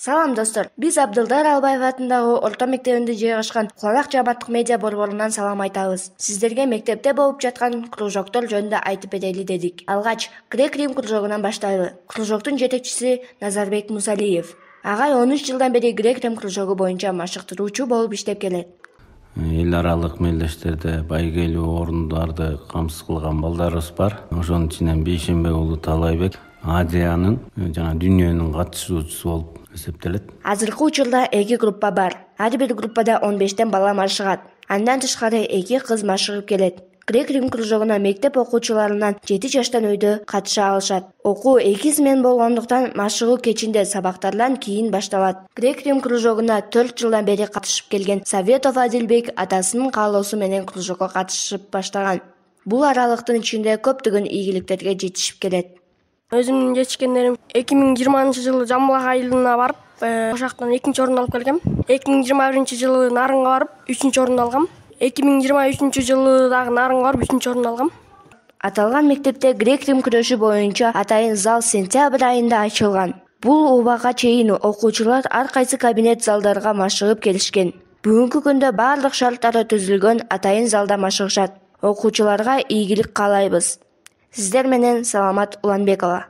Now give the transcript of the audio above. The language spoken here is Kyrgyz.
Салам достор, биз Абдылдар Албаев атындагы орто мектебинде жайгашкан Куланак жааматтык медиа борборунан салам айтабыз. Сиздерге мектепте болуп жаткан кружоктор жөнүндө айтып берели дедик. Алгач грек-рим кружогунан баштайлы. Кружоктун жетекчиси Назарбек Мусалиев. Агай 13 жылдан бери грек-рим кружогу боюнча машыктыруучу болуп иштеп келет. Эл аралык мелдештерде байгелүү орундарды камсыз кылган балдарыбыз бар. Ошонун ичинен Бейшембек уулу Талайбек Азиянын жана дүйнөнүн катышуучусу болуп эсептелет. Азыркы учурда 2 группа бар. Ар бир группада 15тен бала машыгат. Андан тышкары 2 кыз машыгып келет. Грек-рим кружогуна мектеп окуучуларынан 7 жаштан өйдө катыша алышат. Окуу 2 смен болгондуктан машыгуу кечинде сабактардан кийин башталат. Грек-рим кружогуна 4 жылдан бери катышып келген Советов Адилбек атасынын каалоосу менен кружокко катышып баштаган. Бул аралыктын ичинде көптөгөн ийгиликтерге жетишип келет. Өзүмдүн жетишкендерим 2020-жылы Жамбыл айылына барып, ошол жактан 2-нчи орунду алып келгем. 2021-жылы Нарынга барып, 3-нчү орунду алгам. 2023-жылы дагы Нарынга барып, 3-нчү орунду алгам. Аталган мектепте грек-рим күрөшү боюнча атайын зал сентябрь айында ачылган. Бул убага чейин окуучулар ар кайсы кабинет залдарга машыгып келишкен. Бүгүнкү күндө баардык шарттары түзүлгөн атайын залда машыгышат. Окуучуларга ийгилик каалайбыз. Сиздер менен Саламат Уланбекова.